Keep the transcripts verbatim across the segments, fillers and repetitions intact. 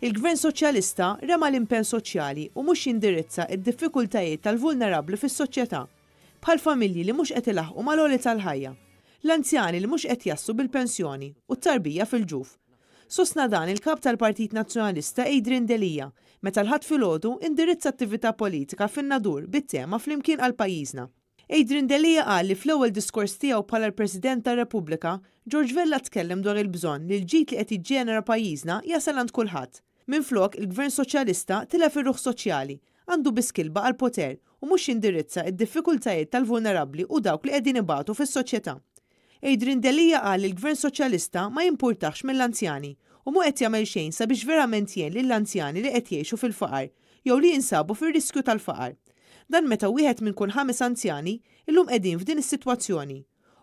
Il-Gvern Soċjalista rema l-impenn soċjali u mhux jindirizza id-diffikultajiet tal-vulnerabbli fis-soċjetà, bħal familji li mhux qed ilaħqu mal-għoli tal-ħajja, l-anzjani li mhux qed jaslu bil-pensjoni u t-tarbija fil-ġuf. Sostna dan il-kap tal-Partit Nazzjonalista Adrian Delia meta l-Ħadd filgħodu indirizza attività politika fin-Nadur bit-tema "Flimkien għal Pajjiżna". Adrian Delia qal li fl-ewwel diskors tiegħu bħala l-President tar-Repubblika, George Vella tkellem dwar il-bżonn li l-ġid li qed jiġġenera pajjiżna jasal għand kulħadd. Minflok, il-Gvern Soċjalista tilef ir-ruħ soċjali, għandu biss kilba għal poter u mhux jindirizza id-diffikultajiet tal-vulnerabbli u dawk li qegħdin ibatu fis-soċjetà. Adrian Delia qal li l-Gvern Soċjalista ma jimpurtax mill-anzjani u mhu qed jagħmel xejn sabiex verament jgħin lill-anzjani li qed jgħixu fil-faqar jew li jinsabu fir-riskju tal-faqar. Dan meta wieħed minn kull ħames anzjani illum qegħdin f'din is-sitwazzjoni.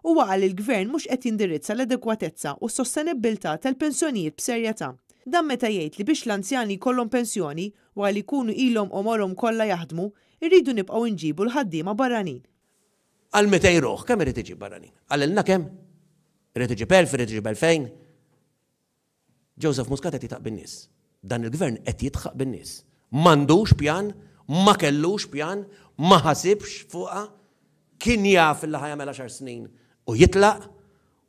Huwa qal li l-gvern mhux qed jindirizza l-adekwatezza u s-sostenibbiltà tal-pensjonijiet b'serjetà. Dan meta jgħid li biex l-anzjani jkollhom pensjoni wara li jkunu ilhom għomorhom kollha jaħdmu, irridu nibqgħu nġibu l-ħaddiema barranin. Għal mitejn ruħ, kemm irid iġib barranin? Qalilna kemm? Irid iġib elf, irid iġib elfejn? Joseph Muscat qed jidħaq bin-nies. Dan il-gvern qed jidħaq bin-nies. M'għandux pjan, ma kellux pjan, ma ħasibx fuqha, kien jaf li ħa jagħmel għaxar snin u jitlaq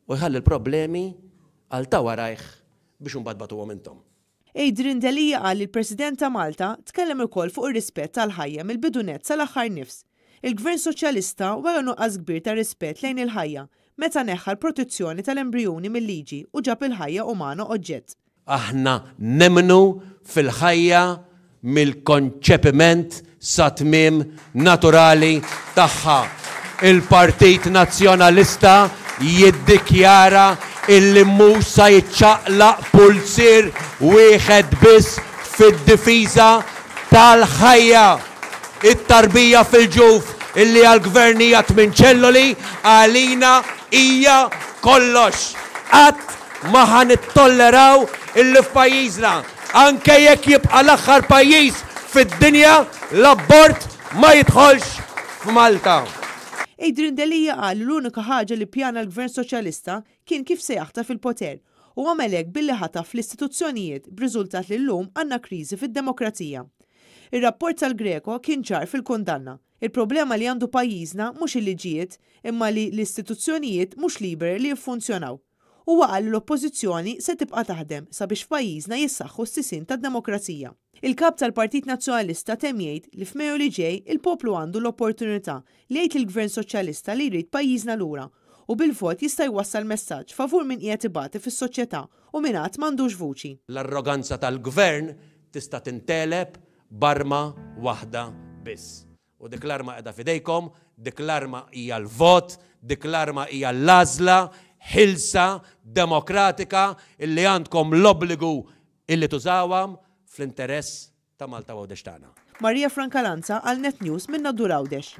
u jħalli l-problemi għal ta' warajh biex imbagħad tbatuhom intom. Adrian Delia qal li l-President ta' Malta tkellem ukoll fuq ir-rispett tal-ħajja mill-bidu nett sal-aħħar nifs. Il-Gvern Soċjalista wera nuqqas kbir ta' rispett lejn il-ħajja meta neħħa l-protezzjoni tal-embrijuni mill-liġi u ġab il-ħajja umana oġġett. Aħna nemmnu fil-ħajja mill-konċepiment sa tmiem naturali tagħha. Il-Partit Nazzjonalista jiddikjara illi mhux sa jiċċaqlaq pulzier wieħed biss fid-difiża tal-ħajja. It-tarbija fil-ġuf, illi għal-gvern hija tmien ċelloli, għalina hija kollox. Qatt ma ħa nittolleraw illi f'pajjiżna, anke jekk jibqa' l-aħħar pajjiż fid-dinja, l-abort ma jidħolx f'Malta. Adrian Delia qal li l-unika ħaġa li pjana l-Gvern Soċjalista kien kif se jaħtaf il-poter u għamel hekk billi ħataf l-istituzzjonijiet, b'riżultat li llum għandna kriżi fid-demokrazija. Ir-rapport tal-Greco kien ċar fil-kundanna. Il-problema li għandu pajjiżna mhux il-liġijiet, imma li l-istituzzjonijiet mhux liberi li jiffunzjonaw. Huwa qal li l-Oppożizzjoni se tibqa' taħdem sabiex f'pajjiżna jissaħħu s-sisin tad-demokrazija. Il-kap tal-Partit Nazzjonalista temm jgħid li f'Mejju li ġej il-poplu għandu l-opportunità li jgħid lill-Gvern Soċjalista li jrid pajjiżna lura u bil-vot jista' jwassal messaġġ favur min qiegħed ibati fis-soċjetà u min għad m'għandux vuċi. L-arroganza tal-gvern tista' tintgħeleb b'arma waħda biss. U dik l-arma qiegħda f'idejkom, dik l-arma hija l-vot, dik l-arma hija l-għażla ħielsa, demokratika, illi għandkom l-obbligu illi tużawha fl-interess ta' Malta u Għawdex tagħna. Maria Francalanza għal Net News minn Nadur, Għawdex.